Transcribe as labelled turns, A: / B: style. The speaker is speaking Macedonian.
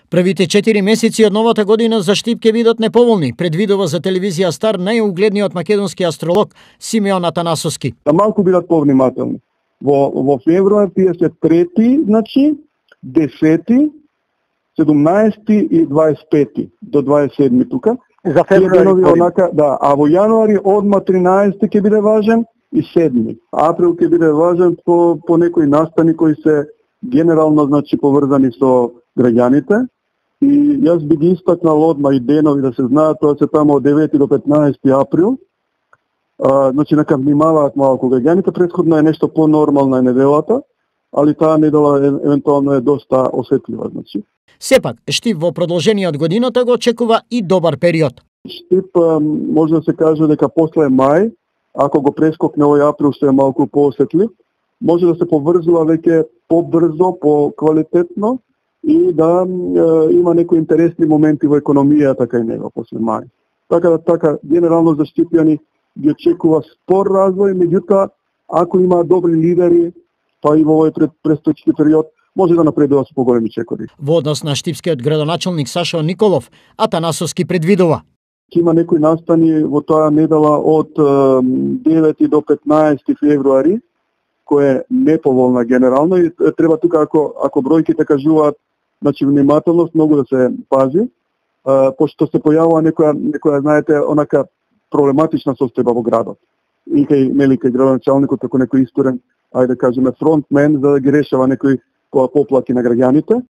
A: Првите 4 месеци од новата година за Штип ќе бидат неповолни, предвидува за телевизија Стар најугледниот македонски астролог Симеон Атанасовски.
B: Да малку бидат повнимателни. Во февруар тие се 3, значи 10, 17 и 25 до 27 тука.
C: За февруари
B: да, а во јануари одма 13 ќе биде важен и 7. Април ќе биде важен по некои настани кои се генерално значи поврзани со граѓаните. И јас би ги истакнал одма и денови да се знаат, тоа се тамо од 9 до 15 април. Значи нека внимаваат малку граѓаните, претходно е нешто понормална неделата, али таа недела евентуално е доста осетлива, значи.
A: Сепак, Штип во продолжениот годината го очекува и добар период.
B: Штип може да се каже дека после мај, ако го прескокне овој април што е малку поосетлив, може да се поврзува веќе побрзо, поквалитетно и да има некои интересни моменти во економијата кај него после мај. Така генерално за Штипјани ги очекува спор развој, меѓутоа ако има добри лидери, па и во овој престојчки период може да напредува со поголеми чекори.
A: Во однос на штипскиот градоначелник Сашо Николов, Атанасовски предвидува:
B: има некои настани во таа недела од 9 до 15 февруари, која е неповолна генерално и треба тука ако бројките кажуваат, значи внимателност многу да се пази, пошто се појавува некоја знаете онака проблематична состојба во градот. И кај градоначалникот како некој исторен, ајде да кажеме фронтмен за да ги решава некои поплаки на граѓаните.